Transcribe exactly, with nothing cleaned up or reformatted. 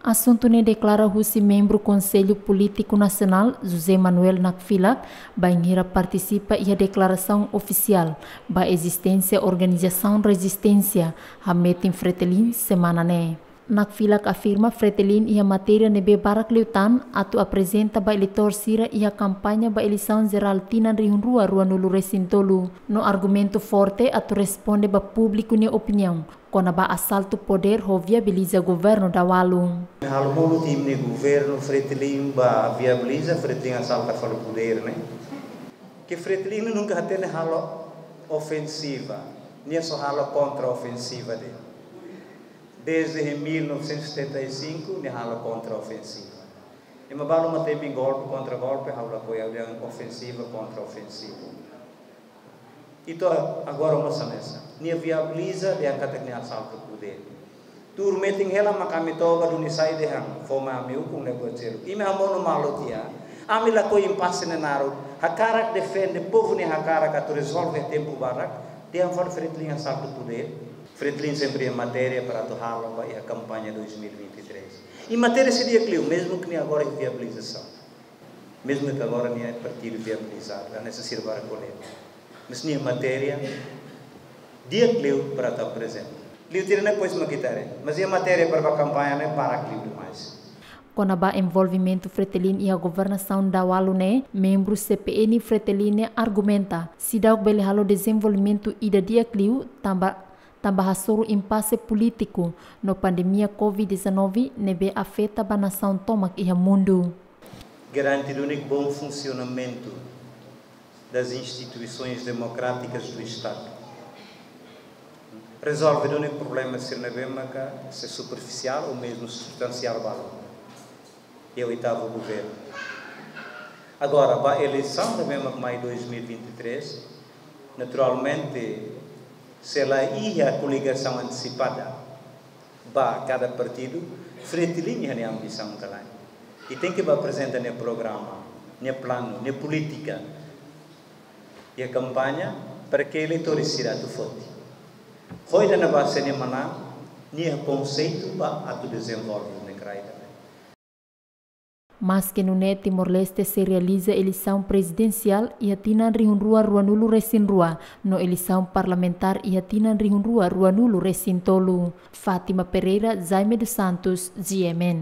Asuntu ne'e deklara husi membru Konsellu Polítiku Nasionál, José Manuel Nakfilak, bainhira partisipa iha deklarasaun ofisiál ba ezisténsia organizasaun rezisténsia hametin Fretilin semana ne'e. Nakfilak afirma Fretilin iha matéria ne'ebé barak liután atu aprezenta ba eleitór sira iha kampaña ba eleisaun jerál tinan rihun rua ruanulu resin tolu, no argumentu forte atu responde ba públiku nia opiniaun kona-ba asaltu podér ho viabiliza governu dadaun. Halo monu tim nia governu Fretilin ba viabiliza Fretilin asalta fali podér ne'e. Ke Fretilin nunka hatene halo ofensiva, nia só halo kontra-ofensiva de'it. Desde em mil novecentos e setenta e cinco, nia halo kontra-ofensiva. Ema balu mak temi golpe, kontra-golpe, halo apoiu dehan ofensiva, kontra-ofensiva. Entaun agora mós hanesan. Nia viabiliza dehan katak nia asaltu podér. Tuur metin hela mak ami toba duni sai dehan, fó mai ami ukun ne'e buat seluk. Imi hamonu malu tiha. Ami lakohi impase ne'e naruk. Hakarak defende povu nia hakarak atu rezolve tempu badak. Dehan fali Fretilin asaltu podér. Fretilin sempre iha matéria para atu halo ba iha kampaña dois mil e vinte e três. I matéria sei di'ak liu, mezmu ke nia agora iha viabilizasaun. Mezmu ke agora nia partidu viabilizadu, hanesan sira barak ko'alia. Mas nia matéria di'ak liu para atu aprezenta. Liu tiha ne'e depois mak ita haree. Mas iha matéria para ba kampaña ne'e barak liu demais. Kona-ba envolvimentu Fretilin iha governasaun dadaun ne'e, membru C P N Fretilin ne'e argumenta, seidauk bele halo dezenvolvimentu ida di'ak liu, tanba, tanba hasoru impase polítiku no pandemia covid dezanove ne'ebé afeta ba nasaun tomak iha mundu. Garante duni bom funcionamento das instituições democráticas do Estado. Rezolve duni problema sira ne'ebé maka se superfisiál ou mezmu substansiál balu. E oitavu governu. Agora, ba eleisaun ne'ebé mak mai dois mil e vinte e três, naturalmente, se la iha koligasaun antesipada ba kada partidu, Fretilin iha nia ambisaun ka lae. I tenke ba aprezenta nia programa, nia planu, nia polítika iha kampaña para ke eleitór sira atu foti. Ho ida-ne'e ba se nia manán, nia konseitu ba atu dezenvolve ne'e kraida. Maske nune'e Timor-Leste sei realiza eleisaun prezidensiál iha tinan rihun rua ruanulu resin rua, no eleisaun parlamentár iha tinan rihun rua ruanulu resin tolu. Fátima Pereira, Jaime dos Santos, G M N.